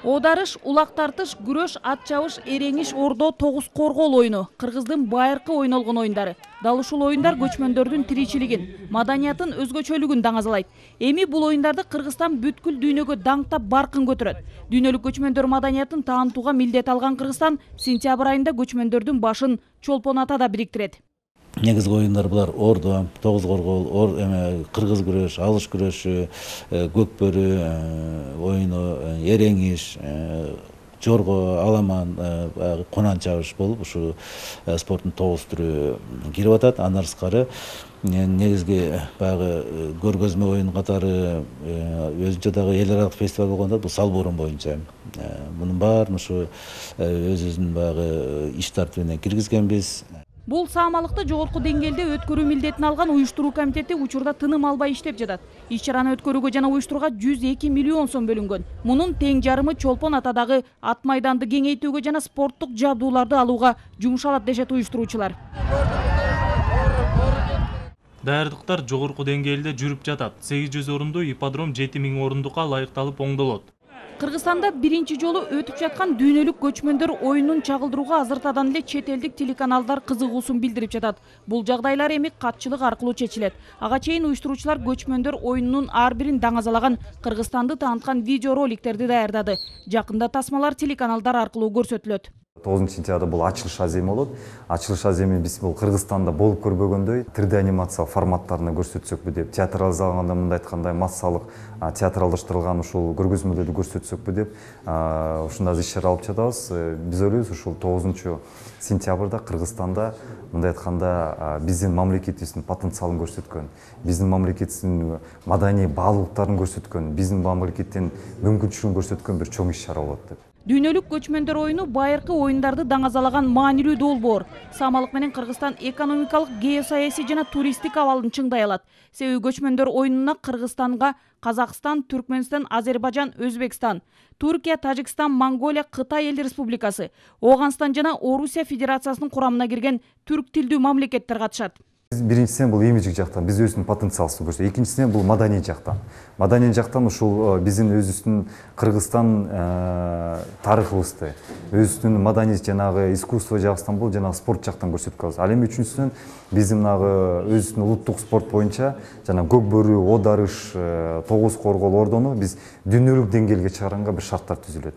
Оодарыш, улак тартыш, күрөш, ат чабыш, эреңиш, ордо, тогуз коргол оюну. Кыргыздын байыркы ойнолгон оюндары. Дал ушул оюндар көчмөндөрдүн тиричилигин, маданиятын, өзгөчөлүгүн даңазалайт. Эми бул оюндарды Кыргызстан бүткүл дүйнөгө даңктап баркын көтөрөт. Дүйнөлүк көчмөндөр маданиятын таанытууга милдет алган Кыргызстан сентябрь айында көчмөндөрдүн башын Чолпон Атада бириктирет. Негизги оюндар булар ордо, тогуз коргол, кыргыз күрөш, алыш күрөшү, көкбөрү оюну, эреңиш, жорго, аламан, конан чабыш болуп ушу спорттун тогуз түрү кирип атат. Андан сырткары негизги баягы көргөзмө оюн катары өзүнчө дагы эл аралык фестиваль болгондо бул салбурун боюнча мунун баарын ушу өзүбүздүн баягы иш тартибине киргизгенбиз. Бул саамалыкты жогорку деңгээлде өткөрүү милдетин алган уюштуруу комитети учурда тыным албай иштеп жатат. Иш-чараны өткөрүүгө жана уюштурууга 102 миллион сом бөлүнгөн. Мунун тең жарымы Чолпон Атадагы ат майданды кеңейтүүгө жана спорттук жабдууларды алууга жумшалат дешет уюштуруучулар. Даярдыктар жогорку деңгээлде жүрүп жатат. 800 орундуу ипподром 7000 орундукка ылайыкталып оңдолот. Кыргызстанда биринчи жолу өтүп жаткан дүйнөлүк көчмөндөр оюнун чагылдырууга азыртадан эле чет элдик телеканалдар кызыгуусун билдирип жатат. Бул жагдайлар эми катчылык аркылуу чечилет. Ага чейин уюштуруучулар көчмөндөр оюнунун ар бирин даңазалаган, Кыргызстанды тааныткан видеороликтерди даярдады. Жакында тасмалар телеканалдар аркылуу көрсөтүлөт. 9-сентябрда бул ачылыш аземи болот. Ачылыш аземи биз бул Кыргызстанда болуп көрбөгөндөй 3D анимация форматтарында көрсөтсөкпү деп, театрализалганда мындай айтканда массалык театралдаштырылган ушул көргөзмөлөрдү көрсөтсөкпү деп ушундай иш-чара алып жатабыз. Биз ойлойбуз ушул 9-сентябрда Кыргызстанда мындай айтканда биздин мамлекетибиздин потенциалын көрсөткөн, биздин мамлекетибиздин маданий баалуулуктарын көрсөткөн, биздин мамлекеттин мүмкүнчүлүгүн көрсөткөн бир чоң иш-чара болот деп. Дүйнөлүк көчмөндөр оюну байыркы оюндарды даңазалаган маанилүү долбоор. Саамалык менен Кыргызстан экономикалык, геосаясий жана туристтик абалын чыңдай алат. Себеби көчмөндөр оюнуна Кыргызстанга Казакстан, Түркмөнстан, Азербайжан, Өзбекстан, Туркия, Тажикстан, Монголия, Кытай эл республикасы, Оганстан жана Орусия федерациясынын курамына кирген түрк тилдүү мамлекеттер катышат. Биринчисинен бул имиджик жактан биз өзүбүздүн потенциалыбызды көрсөтөбүз. Экинчисинен бул маданий жактан. Маданий жактан ушул биздин өзүбүздүн Кыргызстан тарыхыбызды, өзүбүздүн маданий жанагы искусство жагынан бул жанагы спорт жактан көрсөтүп калабыз. Ал эми үчүнчүсүнөн биздин өзүбүздүн улуттук спорт боюнча жана көкбөрү, оодарыш, тогуз коргол, ордону биз дүйнөлүк деңгээлге чыгаранга бир шарттар түзүлөт.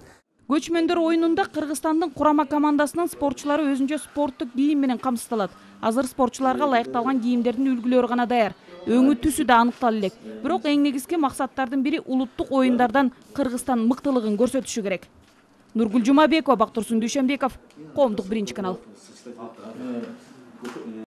Көчмөндөр оюнунда Кыргызстандын курама командасынын спортчулары өзүнчө спорттук кийим менен камсыздалат. Азыр спортчуларга ылайыкталган кийимдердин үлгүлөрү гана даяр. Өңү түсү да аныктала элек. Бирок эң негизги максаттардын бири улуттук оюндардан Кыргызстан мыктылыгын көрсөтүшү керек. Нургүл Жумабекова, Бактурсун Дүйшөнбеков, Коомдук биринчи канал.